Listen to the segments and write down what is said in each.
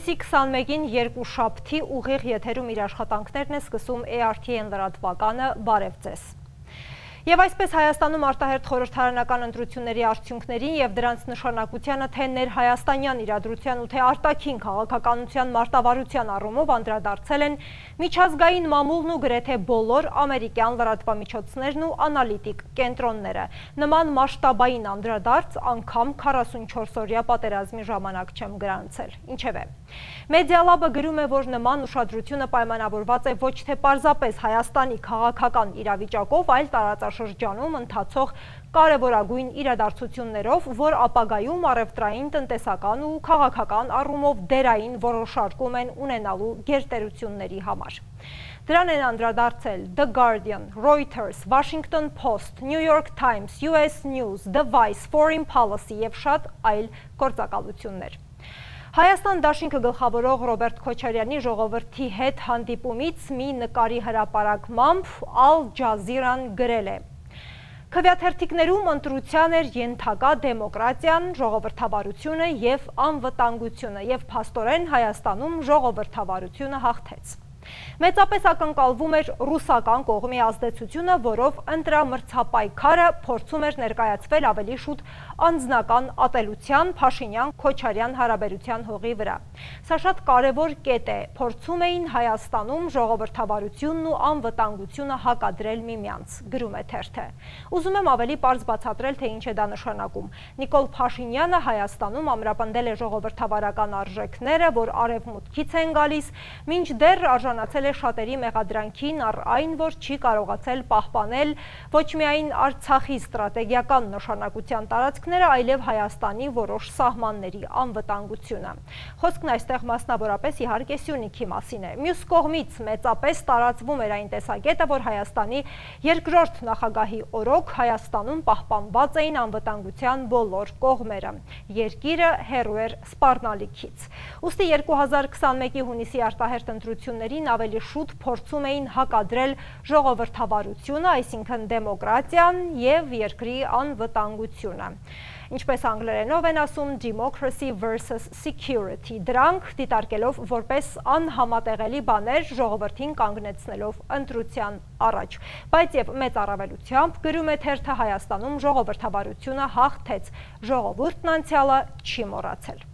Հունիսի 21-ին երկուշաբթի ուղիղ եթերում իր աշխատանքներն է սկսում ARTN լրատվականը, բարև ձեզ։ Եվ այսպես Հայաստանում արտահերթ խորհրդարանական ընտրությունների արդյունքներին և դրանց նշանակությանը թե ներհայաստանյան իրադրության ու թե արտաքին քաղաքականության մարտավարության առումով անդրադարձել են միջազգային մամուլն ու գրեթե բոլոր ամերիկյան լրատվամիջոցներն ու անալիտիկ կենտրոնները։ Նման մասշտաբային անդրադարձ անգամ 44-օրյա պատերազմի ժամանակ չեմ գրանցել։ Ինչևէ, Մեդիալաբը գրում է, որ նման ուշադրությունը պայմանավորված է ոչ թե պարզապես Հայաստանի քաղաքական իրավիճակով, այլ տարածաշրջանում ընթացող կարևորագույն իրադարձություններով, որ ապագայում առևտրային, տնտեսական ու քաղաքական առումով դերային որոշարկում են ունենալու գերտերությունների համար։ Դրան են անդրադարձել The Guardian, Reuters, Washington Post, New York Times, US News, The Vice, Foreign Policy և շատ այլ գործակալություններ։ Հայաստան դաշինքը գլխավորող Ռոբերտ Քոչարյանի ժողովրդի հետ հանդիպումից մի նկարի հրապարակմամբ Al Jazeera-ն գրել է. Քվեաթերթիկներում ընտրության էր ենթակա դեմոկրատիան, ժողովրդավարությունը և անվտանգությունը, և փաստորեն Հայաստանում ժողովրդավարությունը հաղթեց։ Մեծապես ակնկալվում էր ռուսական կողմի ազդեցությունը, որով ընտրամրցապայքարը փորձում էր ներկայացվել ավելի շուտ անձնական ատելության Փաշինյան-Քոչարյան հարաբերության հողի վրա։ Սա շատ կարևոր կետ է, փորձում էին Հայաստանում ժողովրդավարությունն ու անվտանգությունը հակադրել միմյանց, գրում է թերթը։ Ուզում եմ ավելի պարզ բացատրել, թե ինչ է դա նշանակում։ Նիկոլ Փաշինյանը Հայաստանում ամրապնդել է ժողովրդավարական արժեքները, որ արևմուտքից են գալիս, մինչդեռ արժանացել է շատերի մեղադրանքին առ այն, որ չի կարողացել պահպանել ոչ միայն Արցախի ստրատեգիական նշանակության տարածքները, այլև Հայաստանի որոշ սահմանների անվտանգությունը։ Խոսքն այստեղ մասնավորապես իհարկե Սյունիքի մասին է։ Մյուս կողմից մեծապես տարածվում էր այն տեսակետը, որ Հայաստանի երկրորդ նախագահի օրոք Հայաստանում պահպանված էին անվտանգության բոլոր կողմերը։ Երկիրը հեռու էր սպառնալիքից։ Ուստի 2021-ի հունիսի արտահերթ ընտրություններին ավելի շուտ փորձում էին հակադրել ժողովրդավարությունը, այսինքն դեմոկրատիան և երկրի անվտանգությունը։ Ինչպես անգլերենով են ասում democracy versus security, դրանք դիտարկելով որպես անհամատեղելի բաներ, ժողովրդին կանգնեցնելով ընտրության առաջ։ Բայց և մեծ առավելությամբ, գրում է թերթը, Հայաստանում ժողովրդավարությունը հաղթեց, ժողովուրդն անցյալը չի մոռացել։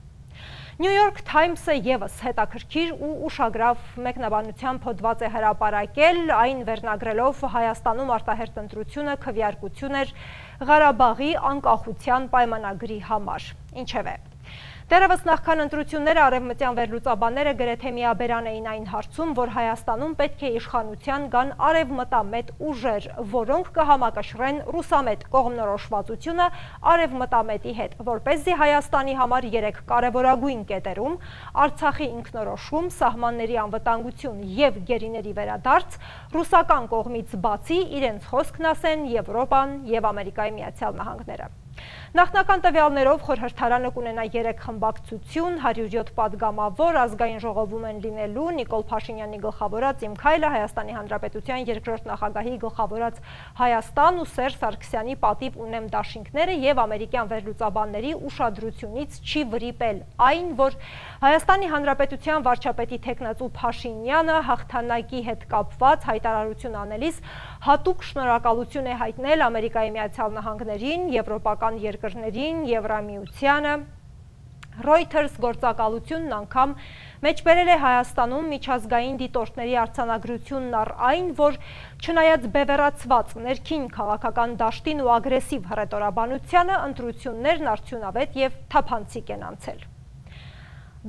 New York Times-ը ևս հետաքրքիր ու ուշագրավ մեկնաբանությամբ հոդված է հրապարակել, այն վերնագրելով Հայաստանում արտահերթ ընտրությունը քվեարկություն էր Ղարաբաղի անկախության պայմանագրի համար։ Ինչևէ, դեռևս նախքան ընտրությունները արևմտյան վերլուծաբանները գրեթե միաբերան էին այն հարցում, որ Հայաստանում պետք է իշխանության գան արևմտամետ ուժեր, որոնք կհամակշռեն ռուսամետ կողմնորոշվածությունը արևմտամետի հետ, որպեսզի Հայաստանի համար 3 կարևորագույն կետերում՝ Արցախի ինքնորոշում, սահմանների անվտանգություն և գերիների վերադարձ, ռուսական կողմից բացի իրենց խոսքն ասեն Եվրոպան և Ամերիկայի Միացյալ Նահանգները։ Նախնական տվյալներով խորհրդարանը կունենա 3 խմբակցություն, 107 պատգամավոր, ազգային ժողովում են լինելու Նիկոլ Փաշինյանի գլխավորած Իմ քայլը, Հայաստանի Հանրապետության երկրորդ նախագահի գլխավորած Հայաստան ու Սերժ Սարգսյանի պատիվ ունեմ դաշինքները և ամերիկյան վերլուծաբանների ուշադրությունից չի վրիպել այն, որ Հայաստանի Հանրապետության վարչապետի թեկնածու Փաշինյանը հաղթանակի հետ կապված հայտարարություն անելիս հատուկ շնորհակալություն է հայտնել Ամերիկայի Միացյալ Նահանգներին, եվրոպական երկրներին, Եվրամիությանը։ Reuters գործակալությունն անգամ մեջբերել է Հայաստանում միջազգային դիտորդների արձանագրությունն առ այն, որ չնայած բևեռացված ներքին քաղաքական դաշտին ու ագրեսիվ հռետորաբանությանը, ընտրություններն արդյունավետ և թափանցիկ են անցել։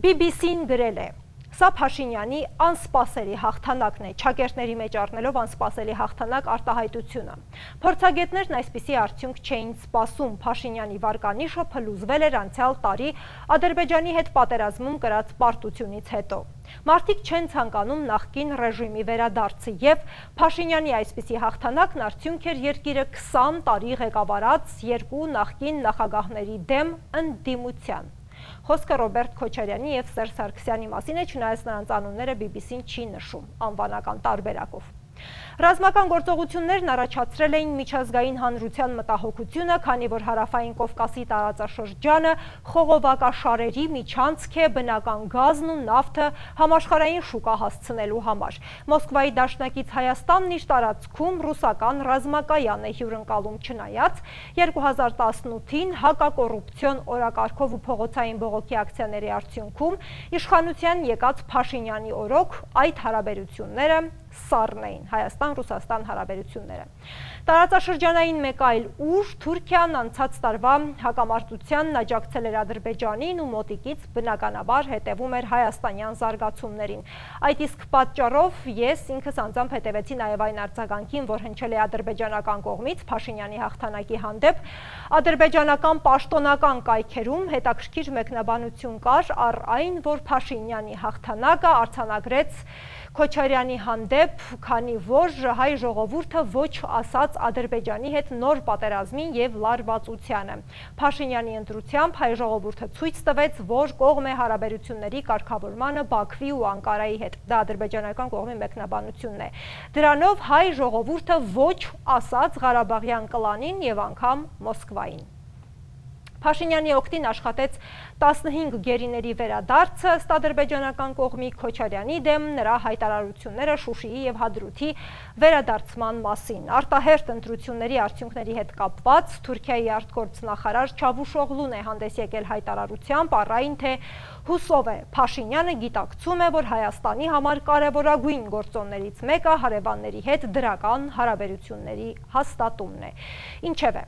BBC-ն գրել է. Սա Փաշինյանի անսպասելի հաղթանակն է, չակերտների մեջ առնելով անսպասելի հաղթանակ արտահայտությունը։ Փորձագետներն այսպիսի արդյունք չէին սպասում, Փաշինյանի վարկանիշը փլուզվել էր անցյալ տարի Ադրբեջանի հետ պատերազմում կրած պարտությունից հետո։ Մարդիկ չեն ցանկանում նախկին ռեժիմի վերադարձը և Փաշինյանի այսպիսի հաղթանակն արդյունք էր երկիրը 20 տարի ղեկավարած 2 նախկին նախագահների դեմ ընդդիմության։ Խոսքը Ռոբերտ Քոչարյանի և Սերժ Սարգսյանի մասին է, չնայած նրանց անունները BBC-ն չի նշում անվանական տարբերակով։ Ռազմական գործողություններն առաջացրել էին միջազգային հանրության մտահոգությունը, քանի որ Հարավային Կովկասի տարածաշրջանը խողովակաշարերի միջանցք է բնական գազն ու նավթը համաշխարհային շուկա հասցնելու համար։ Մոսկվայի դաշնակից Հայաստանն իր տարածքում ռուսական ռազմակայան է հյուրընկալում, չնայած 2018-ին հակակոռուպցիոն օրակարգով ու փողոցային բողոքի ակցիաների արդյունքում իշխանության եկած Փաշինյանի օրոք այդ հարաբերությունները սառն էին, Հայաստան-Ռուսաստան հարաբերությունները։ Տարածաշրջանային մեկ այլ ուժ Թուրքիան անցած տարվա հակամարտությանն աջակցել էր Ադրբեջանին ու մոտիկից բնականաբար հետևում էր հայաստանյան զարգացումներին։ Այդ իսկ պատճառով ես ինքս անձամբ հետևեցի նաև այն արձագանքին, որ հնչել է ադրբեջանական կողմից Փաշինյանի հաղթանակի հանդեպ։ Ադրբեջանական պաշտոնական կայքերում հետաքրքիր մեկնաբանություն կար առ այն, որ Փաշինյանի հաղթանակը արձանագրեց Քոչարյանի հանդեպ, քանի որ հայ ժողովուրդը ոչ ասաց Ադրբեջանի հետ նոր պատերազմին եւ լարվածությանը։ Փաշինյանի ընտրությամբ հայ ժողովուրդը ցույց տվեց, որ կողմ է հարաբերությունների կարգավորմանը Բաքվի ու Անկարայի հետ։ Դա ադրբեջանական կողմի մեկնաբանությունն է։ Դրանով հայ ժողովուրդը ոչ ասաց Ղարաբաղյան կլանին եւ անգամ Մոսկվային։ Փաշինյանի օգտին աշխատեց 15 գերիների վերադարձը ըստ ադրբեջանական կողմի Քոչարյանի դեմ նրա հայտարարությունները Շուշիի եւ Հադրութի վերադարձման մասին։ Արտահերթ ընտրությունների արդյունքների հետ կապված Թուրքիայի արտգործնախարար Չավուշօղլուն է հանդես եկել հայտարարությամբ առ այն, թե հուսով է Փաշինյանը գիտակցում է, որ Հայաստանի համար կարևորագույն գործոններից մեկը հարևանների հետ դրական հարաբերությունների հաստատումն է։ Ինչևէ,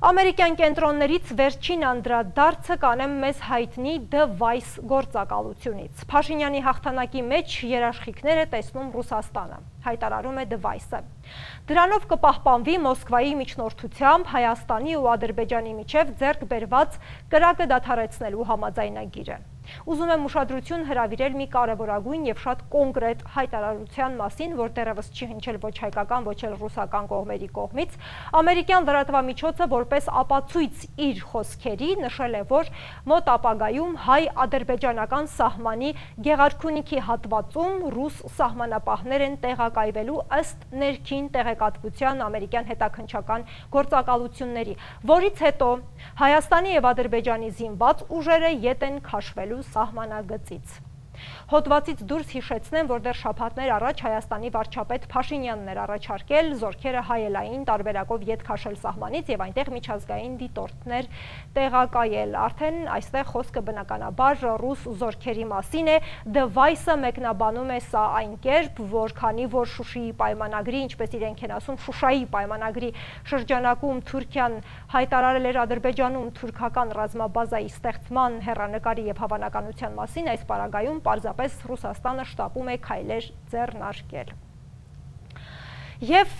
ամերիկյան կենտրոններից վերջին անդրադարձը կանեմ մեզ հայտնի The Vice գործակալությունից։ Փաշինյանի հաղթանակի մեջ երաշխիքներ է տեսնում Ռուսաստանը, հայտարարում է The Vice-ը։ Դրանով կպահպանվի Մոսկվայի միջնորդությամբ Հայաստանի ու Ադրբեջանի միջև ձեռք բերված կրակը դադարեցնելու համաձայնագիրը։ Ուզում եմ ուշադրություն հրավիրել մի կարևորագույն եւ շատ կոնկրետ հայտարարության մասին, որ դեռևս չի հնչել ոչ հայկական, ոչ էլ ռուսական կողմերի կողմից։ Ամերիկյան լրատվամիջոցը որպես ապացույց իր խոսքերի նշել է, որ մոտ ապագայում հայ-ադրբեջանական սահմանի Գեղարքունիքի հատվածում ռուս սահմանապահներ են տեղակայվելու ըստ ներքին տեղեկատվության ամերիկյան հետաքննչական գործակալությունների, որից հետո Հայաստանի եւ Ադրբեջանի զինված ուժերը ետ են քաշվելու սահմանագծից։ Հոդվածից դուրս հիշեցնեմ, որ դեռ շաբաթներ առաջ Հայաստանի վարչապետ Փաշինյանն էր առաջարկել զորքերը հայելային տարբերակով ետ քաշել սահմանից եւ այնտեղ միջազգային դիտորդներ տեղակայել։ Արդեն այստեղ խոսքը բնականաբար ռուս զորքերի մասին է։ The Vice-ը մեկնաբանում է սա այն կերպ, որ քանի որ Շուշիի պայմանագրի, ինչպես իրենք են ասում, Շուշայի պայմանագրի շրջանակում Թուրքիան հայտարարել էր Ադրբեջանում թուրքական ռազմաբազայի ստեղծման հեռանկարի եւ հավանականության մասին, այս պարագայում պարզապես Ռուսաստանը շտապում է քայլեր ձեռնարկել։ Եվ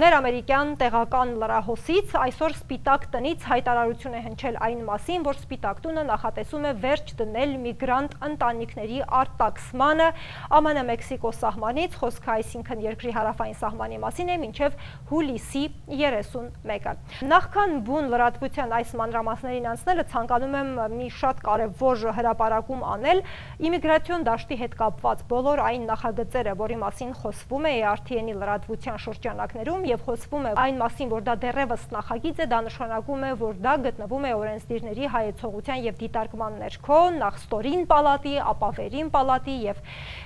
ներամերիկյան տեղական լրահոսից այսօր Սպիտակ տնից հայտարարություն է հնչել այն մասին, որ Սպիտակ տունը նախատեսում է վերջ դնել միգրանտ ընտանիքների արտաքսմանը ԱՄՆ-Մեքսիկո սահմանից, խոսքը այսինքն երկրի հարավային սահմանի մասին է, մինչև հուլիսի 31-ը։ Նախքան բուն լրատվության այս մանրամասներին անցնելը ցանկանում եմ մի շատ կարևոր հրապարակում անել իմիգրացիոն դաշտի հետ կապված բոլոր այն նախագծերը, որի մասին խոսվում է RTN-ի լրատվության շրջանակներում եւ խոսվում է այն մասին, որ դա դեռևս նախագիծ է, դա նշանակում է, որ դա գտնվում է օրենսդիրների հայեցողության եւ դիտարկման ներքո, նախ ստորին պալատի, ապա վերին պալատի եւ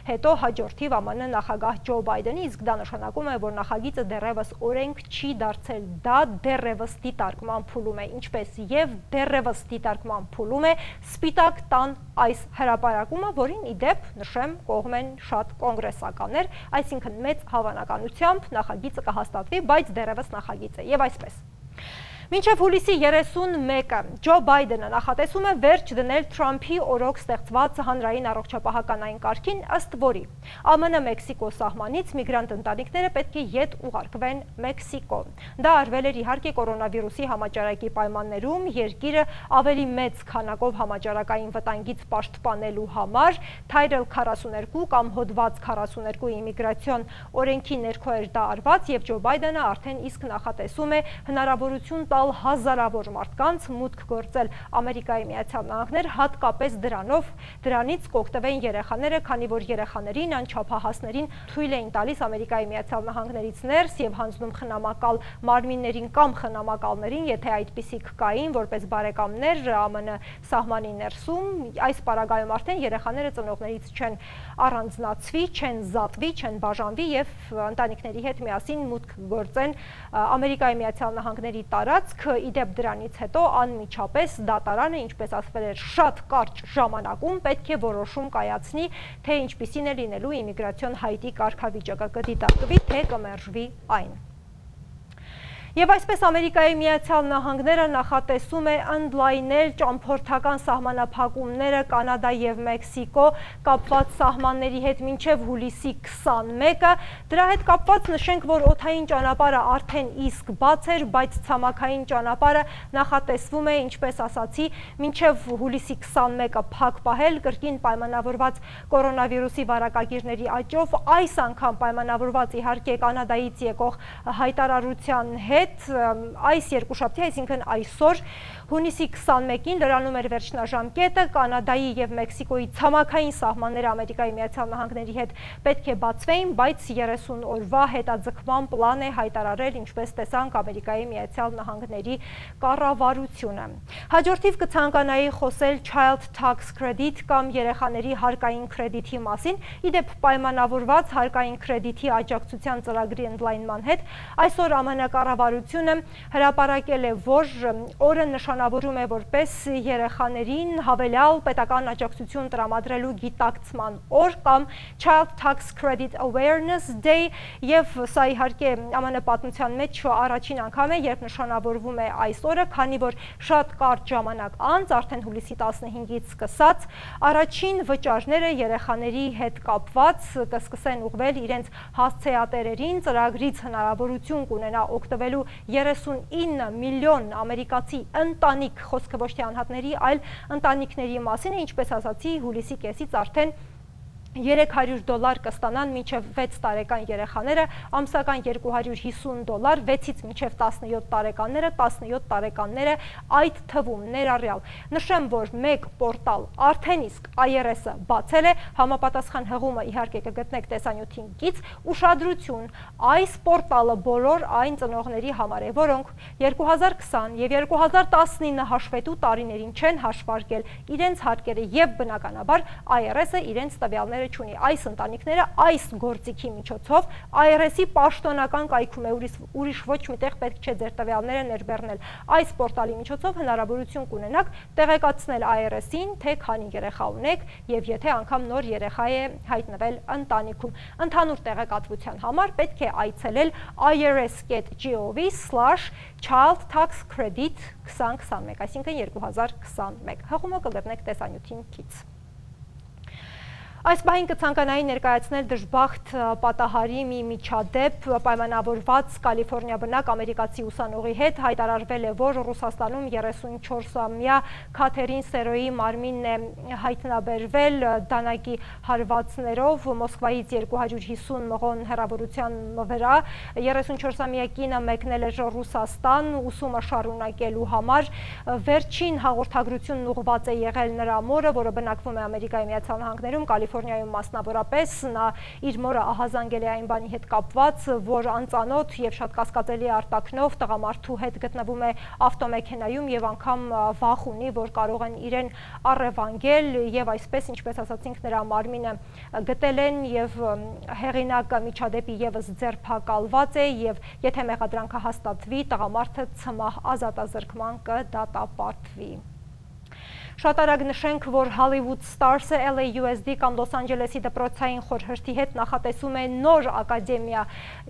հետո հաջորդիվ ԱՄՆ նախագահ Ջո Բայդենի, իսկ դա նշանակում է, որ նախագիծը դեռևս օրենք չի դարձել, դա դեռևս դիտարկման փուլում է, ինչպես եւ դեռևս դիտարկման փուլում է Սպիտակ տան այս հրապարակումը, որին ի դեպ նշեմ կողմ են շատ կոնգրեսականներ, այսինքն մեծ հավանականությամբ նախագիծը կհաստատվի, բայց դեռևս նախագիծ է եւ այսպես։ Մինչև հուլիսի 31-ը Ջո Բայդենը նախատեսում է վերջ դնել Թրամփի օրոք ստեղծված հանրային առողջապահականային կարգին, ըստ որի ԱՄՆ-Մեքսիկո սահմանից միգրանտ ընտանիքները պետք է ետ ուղարկվեն Մեքսիկո։ Դա արվել էր իհարկե կորոնավիրուսի համաճարակի պայմաններում երկիրը ավելի մեծ քանակով համաճարակային վտանգից պաշտպանելու համար Title 42 կամ հոդված 42 իմիգրացիոն օրենքի ներքո էր դա արված եւ Ջո Բայդենը արդեն իսկ նախատեսում է հնարավորություն տալ հազարավոր մարդկանց մուտք գործել Ամերիկայի Միացյալ Նահանգներ, հատկապես դրանով դրանից կօգտվեն երեխաները, քանի որ երեխաներին, անչափահասներին թույլ էին տալիս Ամերիկայի Միացյալ Նահանգներից ներս եւ հանձնում խնամակալ մարմիններին կամ խնամակալներին, եթե այդպիսիք կային, որպես բարեկամներ ԱՄՆ սահմանի ներսում, այս պարագայում արդեն երեխաները ծնողներից չեն առանձնացվի, չեն զատվի, չեն բաժանվի եւ ընտանիքների հետ միասին մուտք գործեն Ամերիկայի Միացյալ Նահանգների տարածք։ Իդեպ դրանից հետո անմիջապես դատարանը, ինչպես ասվել էր, շատ կարճ ժամանակում պետք է որոշում կայացնի, թե ինչպիսին է լինելու իմիգրացիոն հայտի կարգավիճակը, կդիտարկվի, թե կմերժվի այն։ Եվ այսպես Ամերիկայի Միացյալ Նահանգները նախատեսում է ընդլայնել ճամփորդական սահմանափակումները Կանադա եւ Մեքսիկո կապված սահմանների հետ մինչեւ հուլիսի 21-ը։ Դրա հետ կապված նշենք, որ օդային ճանապարհը արդեն իսկ բաց էր, բայց ցամաքային ճանապարհը նախատեսվում է, ինչպես ասացի, մինչեւ հուլիսի 21-ը փակ պահել, կրկին պայմանավորված կորոնավիրուսի վարակագիրների աճով, այս անգամ պայմանավորված իհարկե Կանադայից եկող հայտարարության հետ այս երկուշաբթի, այսինքն այսօր հունիսի 21-ին լրանում էր վերջնաժամկետը, Կանադայի եւ Մեքսիկոյի ցամաքային սահմանները Ամերիկայի Միացյալ Նահանգների հետ պետք է բացվեին, բայց 30 օրվա հետաձգման պլան է հայտարարել, ինչպես տեսանք Ամերիկայի Միացյալ Նահանգների կառավարությունը։ Հաջորդիվ կցանկանայի խոսել Child Tax Credit կամ երեխաների հարկային կրեդիթի մասին, իդեպ պայմանավորված հարկային կրեդիթի աջակցության ծրագրի ընդլայնման հետ, այսօր ԱՄՆ կառավարությունը հրապարակել է, որ օրը նշանավորում է որպես երեխաներին հավելյալ պետական աջակցություն տրամադրելու գիտակցման օր կամ Child Tax Credit Awareness Day, եւ սա իհարկե ԱՄՆ պատմության մեջ առաջին անգամ է, երբ նշանավորվում է այս օրը, քանի որ շատ կարճ ժամանակ անց, արդեն հուլիսի 15-ից սկսած, առաջին վճարները երեխաների հետ կապված կսկսեն ուղղվել իրենց հասցեատերերին, ծրագրից հնարավորություն կունենա օգտվելու 39 միլիոն ամերիկացի ընտանիք, խոսքը ոչ թե անհատների, այլ ընտանիքների մասին է, ինչպես ասացի, հուլիսի կեսից արդեն $300 կստանան մինչև 6 տարեկան երեխաները, ամսական $250, 6-ից մինչև 17 տարեկանները, 17 տարեկանները այդ թվում ներառյալ։ Նշեմ, որ մեկ պորտալ արդեն իսկ IRS-ը բացել է, համապատասխան հղումը իհարկե կգտնեք տեսանյութին կից, ուշադրություն, այս պորտալը բոլոր այն ծնողների համար է, որոնք 2020 եւ 2019 հաշվետու տարիներին չեն հաշվարկել իրենց հարկերը եւ բնականաբար IRS-ը իրենց տվյալները չունի, այս ընտանիքները այս գործիքի միջոցով IRS-ի պաշտոնական կայքում է, ուրիշ ոչ միտեղ պետք չէ ձեր տվյալները ներբեռնել, այս պորտալի միջոցով հնարավորություն կունենաք տեղեկացնել IRS-ին, թե քանի երեխա ունեք եւ եթե անգամ նոր երեխա է հայտնվել ընտանիքում։ Ընդհանուր տեղեկատվության համար պետք է այցելել irs.gov/child tax credit 2021, այսինքն 2021, հղումը կգտնեք տեսանյութին կից։ Այս պահին կցանկանայի ներկայացնել դժբախտ պատահարի մի միջադեպ, պայմանավորված Կալիֆոռնիա բնակ ամերիկացի ուսանողի հետ հայտարարվել է, որ Ռուսաստանում 34-ամյա Քաթերին Սերոյի մարմինն է հայտնաբերվել դանակի հարվածներով Մոսկվայից 250 մղոն հեռավորության վրա։ 34-ամյա կինը մեկնել էր Ռուսաստան ուսումը շարունակելու համար։ Վերջին հաղորդագրությունն ուղղված է եղել նրա մորը, որը բնակվում է Ամերիկայի Միացյալ Նահանգներում, Կալիֆոռնիայում մասնավորապես, նա իր մորը ահազանգել է այն բանի հետ կապված, որ անծանոթ եւ շատ կասկածելի արտաքնով տղամարդու հետ գտնվում է ավտոմեքենայում եւ անգամ վախ ունի, որ կարող են իրեն առևանգել եւ այսպես, ինչպես ասացինք, նրա մարմինը գտել են եւ հեղինակը միջադեպի եւս ձերբակալված է եւ եթե մեղադրանքը հաստատվի, տղամարդը ցմահ ազատազրկման կդատապարտվի։ Շատ արագ նշենք, որ Hollywood Stars-ը LAUSD կամ Լոս Անջելեսի դպրոցային խորհրդի հետ նախատեսում է նոր ակադեմիա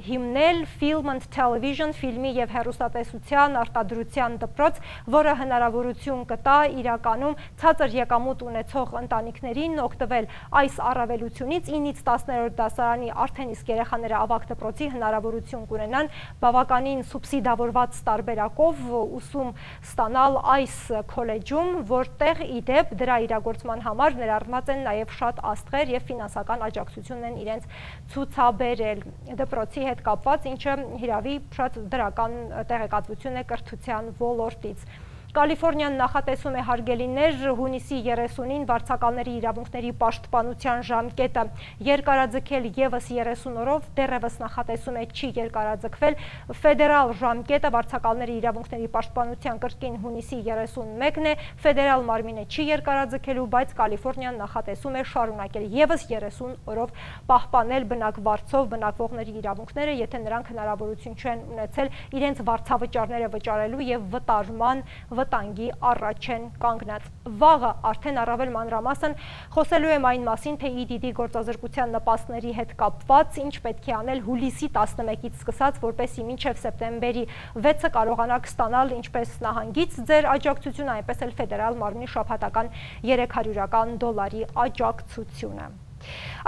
հիմնել Film and Television, ֆիլմի եւ հեռուստատեսության արտադրության դպրոց, որը հնարավորություն կտա իրականում ցածր եկամուտ ունեցող ընտանիքներին օգտվել այս առավելությունից, 9-ից 10-րդ դասարանի արդեն իսկ երեխաները ավագ դպրոցի հնարավորություն կունենան բավականին սուբսիդավորված տարբերակով ուսում ստանալ այս քոլեջում, որտեղ իդեպ դրա իրագործման համար ներառված են նաև շատ աստղեր եւ ֆինանսական աջակցություն են իրենց ցուցաբերել դպրոցի հետ կապված, ինչը հիրավի շատ դրական տեղեկատվություն է կրթության ոլորտից։ Կալիֆորնիան նախատեսում է հարգելիներ հունիսի 30-ին վարձակալների իրավունքների պաշտպանության ժամկետը երկարաձգել ևս 30 օրով, դեռևս նախատեսում է չի երկարաձգվել ֆեդերալ ժամկետը վարձակալների իրավունքների պաշտպանության կրկին հունիսի 31-ն է, ֆեդերալ մարմինը չի երկարաձգելու, բայց Կալիֆորնիան նախատեսում է շարունակել ևս 30 օրով պահպանել բնակվարձով բնակվողների իրավունքները, եթե նրանք հնարավորություն չեն ունեցել իրենց վարձավճարները վճարելու և վտարման վտանգի առաջ են կանգնած։ Վաղը արդեն առավել մանրամասն խոսելու եմ այն մասին, թե EDD գործազրկության նպաստների հետ կապված ինչ պետք է անել հուլիսի 11-ից սկսած, որպեսզի մինչև սեպտեմբերի 6-ը կարողանաք ստանալ ինչպես նահանգից ձեր աջակցությունը, այնպես էլ ֆեդերալ մարմնի շաբաթական $300 աջակցությունը։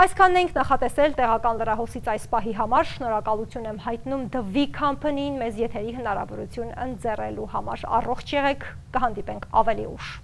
Այսքանն ենք նախատեսել տեղական լրահոսից այս պահի համար, շնորհակալություն եմ հայտնում The V Company-ին մեզ եթերի հնարավորություն ընձեռելու համար։ Առողջ եղեք, կհանդիպենք ավելի ուշ։